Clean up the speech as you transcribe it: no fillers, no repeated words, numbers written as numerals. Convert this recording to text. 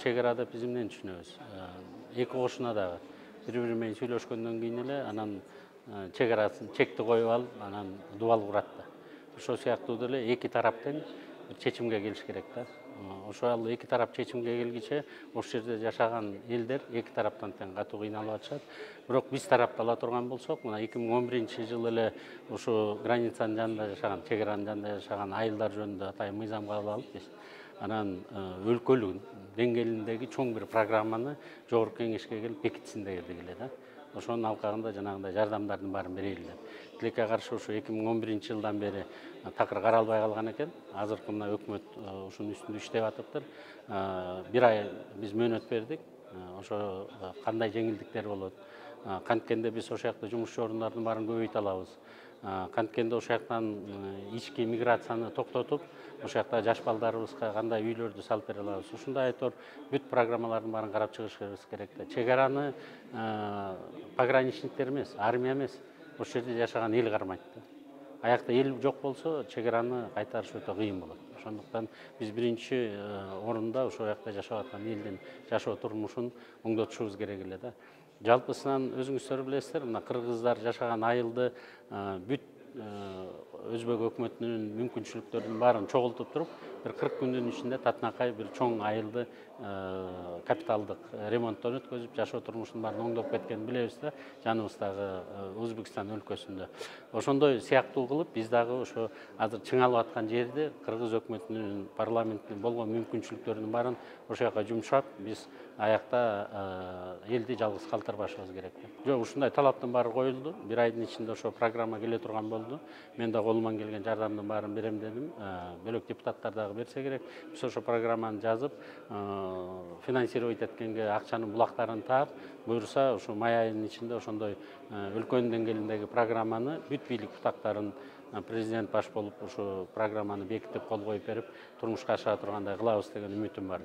чек ара деп биз эмнени түшүнөбүз? Эки кошуна дагы бири менен сүйлөшкөндөн кийин эле анан чек арасын чекти коюп алып, анан дубал курат да. Ошол сыяктуу деле эки тарап тең бир чечимге келиш керек да. Ошол эки тарап чечимге келгиче ошол жерде жашаган элдер эки тараптан тең катуу кыйналып атышат. Бирок биз тарапта ала турган болсок, мына 2011-жылы эле ушу границанын жанында жашаган, чек аранын жанында жашаган айылдар жөнүндө атайын мыйзам кабыл алып биз анан өлкөлүк деңгээлиндеги чоң бир программаны жогорку кеңешке келип бекитсин дегенди эле да. Ошонун алкагында жанагындай жардамдардын баарын берели деп. Тилекке каршы ушу 2011-жылдан бери такыр каралбай калган экен. Азыркы мына өкмөт ушунун үстүндө иштеп атыптыр. Бир ай биз мөөнөт бердик. Ошо кандай жеңилдиктер болот? Канткенде биз ошол жакта жумушчу орундардын баарын көбөйтө алабыз. Канткенде ошол жактан ички миграцияны токтотуп, ошол жакта жаш балдарыбызга кандай үйлөрдү салып бере алабыз. Ушундай айтор бүт программалардын баарын карап чыгышыбыз керек да. Чек араны пограничниктер эмес, армия эмес, ошол жерде жашаган эл кармайт да. Аякта эл жок болсо, чек араны кайтарыш өтө кыйын болот. Ошондуктан биз биринчи орунда ошол жакта жашап аткан элдин жашоо турмушун оңдотушубуз керек эле да. Жалпысынан өзүңүздөр билесиздер, мына кыргыздар жашаган айылды бүт өзбек өкмөтүнүн мүмкүнчүлүктөрүнүн баарын чогултуп туруп, бир 40 күндүн ичинде татынакай бир чоң айылды капиталдык ремонттон өткөзүп, жашоо турмушунун баарын оңдоп кеткенин билебиз да, жаныбыздагы Өзбекстан өлкөсүндө. Ошондой сыяктуу кылып, биз дагы ошо азыр чыңалып аткан жерде кыргыз өкмөтүнүн парламенттин болгон мүмкүнчүлүктөрүнүн баарын ошол жака жумшап, биз аякта элди жалгыз калтырбашыбыз керек да. Жок, ушундай талаптын баары коюлду. Бир айдын ичинде ошо программа келе турган болду. Мен да колуман келген жардамдын баарын берем дедим. Бөлөк депутаттар дагы берсе керек. Биз ошо программаны жазып, финансировать эткенге акчанын булактарын таап, буюрса ушу май айынын ичинде ошондой өлкөнүн деңгээлиндеги программаны бүт бийлик бутактарын президент баш болуп ушу программаны бекитип кол коюп берип, турмушка ашыра тургандай кылабыз деген үмүтүм бар.